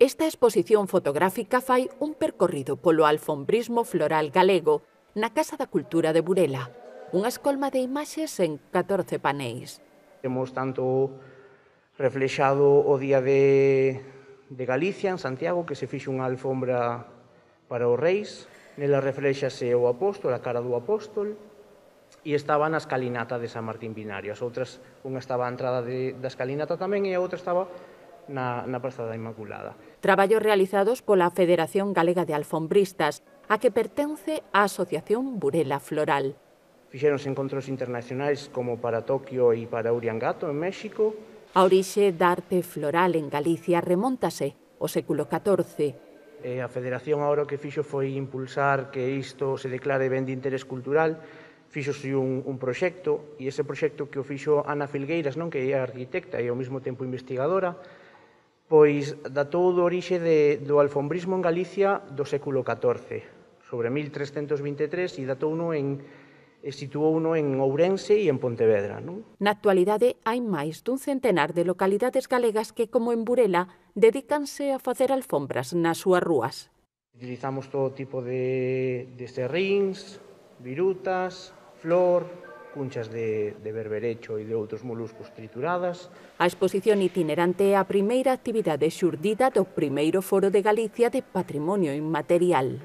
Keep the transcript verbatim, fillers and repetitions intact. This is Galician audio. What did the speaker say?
Esta exposición fotográfica fai un percorrido polo alfombrismo floral galego na Casa da Cultura de Burela, unha escolma de imaxes en catorce paneis. Temos tanto reflexado o Día de, de Galicia en Santiago, que se fixe unha alfombra para os reis, nela reflexase o apóstol, a cara do apóstol, e estaba na escalinata de San Martín Binario. As outras, unha estaba a entrada de, da escalinata tamén e a outra estaba na, na Praza da Inmaculada. Traballos realizados pola Federación Galega de Alfombristas, a que pertence a Asociación Burela Floral. Fixeronse encontros internacionais como para Tokio e para Uriangato, en México. A orixe da arte floral en Galicia remóntase ao século catorce. E a Federación agora o que fixo foi impulsar que isto se declare ben de interés cultural. Fixose un, un proxecto, e ese proxecto que o fixo Ana Filgueiras, non, que é arquitecta e ao mesmo tempo investigadora, pois datou do orixe de, do alfombrismo en Galicia do século catorce, sobre mil trescentos vinte e tres, e datouno en, e situouno en Ourense e en Pontevedra. Non? Na actualidade hai máis dun centenar de localidades galegas que, como en Burela, dedícanse a facer alfombras nas súas rúas. Utilizamos todo tipo de, de serríns, virutas, flor, cunchas de, de berberecho e de outros moluscos trituradas. A exposición itinerante é a primeira actividade xurdida do primeiro Foro de Galicia de Patrimonio Inmaterial.